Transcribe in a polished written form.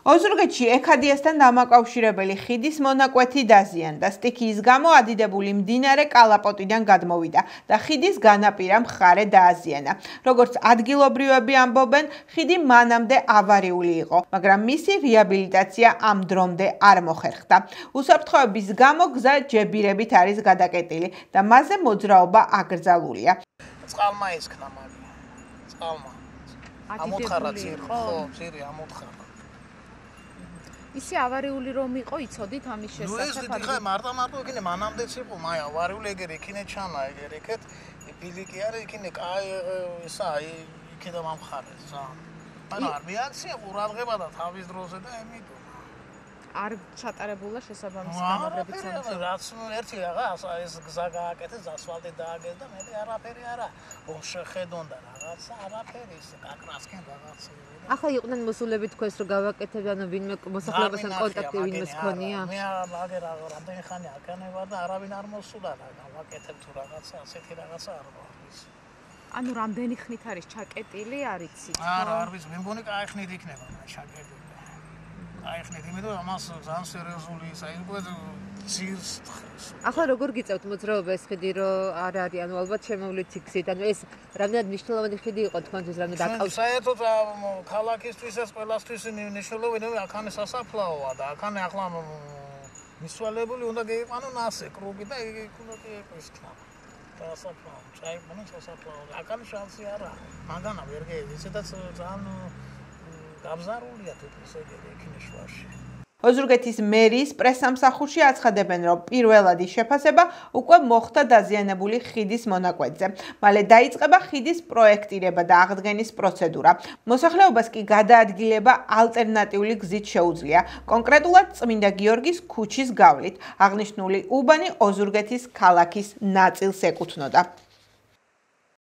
ოზურგეთში ექადიასთან დამაკავშირებელი ხიდის მონაკვეთი დაზიანდა. სტიქიის გამო ადიდებული მდინარე კალაპოტიდან გადმოვიდა და ხიდის განაპირა მხარე დააზიანა. როგორც ადგილობრივები ამბობენ, ხიდი მანამდე ავარიული იყო, მაგრამ მისი რეაბილიტაცია ამ დრომდე არ მოხერხდა. უსაფრთხოების გამო გზა ჯებირებით არის გადაკეტილი და მასზე მოძრაობა აკრძალულია. წყალმა ისქნა მაგია. წყალმა. ამოთხარა ძირი, ხო, ძირი ამოთხარა. ისე ავარიული რომ იყო, იცოდით ამის შესახებ? ნუ ეს დიდი ხა მარტო იქინე მანამდეც იყო, მაი ავარიული ეგერ იქინე ჩანა ეგერ იქეთ ბილიკი არის იქინე კაი ისა იქიდან მომხარეს რა. ანუ არ რეაქცია ყურადღება და თავის დროზე და ემიტო. არ ჩატარებულა შესაბამისი გამაგრებით სამუშაო. რაც ერთი რაღაც ეს გზა გააკეთეს, ასფალტი დააგეს და მე არაფერი არა. შეხედონ და რაღაცა არაფერი ის კაკრასკენ რაღაცა. ახლა იყვნენ მოსულები თქვენს რომ გავაკეთებ, ანუ ვინმე მოსახლეობასთან კონტაქტი ვინმეს ქონია? მე აგერ რამდენი ხანი აკანევა და არავინ არ მოსულა და გავაკეთებ თუ რაღაცა ასეთი რაღაცა არ მოხდეს. ანუ რამდენი ხნით არის ჩაკეტილი, არ იცით? არა, არ ვიცი, მე მგონი კაი ხნით იქნება ჩაკეტილი. აიხნით, იმიტომ რომ ამას ძალიან სერიოზული ისა იყო ძირს თხრის. ახლა როგორ გიწევთ მოძრაობა ეს ხიდი რომ არ არის, ანუ ალბათ შემოვლით იქცით, ანუ ეს რამდენად მნიშვნელოვანი ხიდი იყო თქვენთვის, რამდენად აკავშირებს? საერთოდ ქალაქისთვის ეს ყველასთვის მნიშვნელოვანია, აქანე სასაფლაოა და აქანე ახლა მისვალებული უნდა გეიყვანო ნასე კრუგი და იგი უნდა იყოს ხა. სასაფლაო, წაიყვანო სასაფლაო. აქანე შანსი არა. მაგანა ვერ გეიცედაც ძალიან გაბზარულია თითქოს ეგრე იქინე შუაში. ოზურგეთის მერის პრესსამსახურში აცხადებენ, რომ პირველადი შეფასება უკვე მოხდა დაზიანებული ხიდის მონაკვეთზე. მალე დაიწყება ხიდის პროექტირება და აღდგენის პროცედურა. მოსახლეობას კი გადაადგილება ალტერნატიული გზით შეუძლია, კონკრეტულად წმინდა გიორგის ქუჩის გავლით. აღნიშნული უბანი ოზურგეთის ქალაქის ნაწილს ეკუთვნოდა.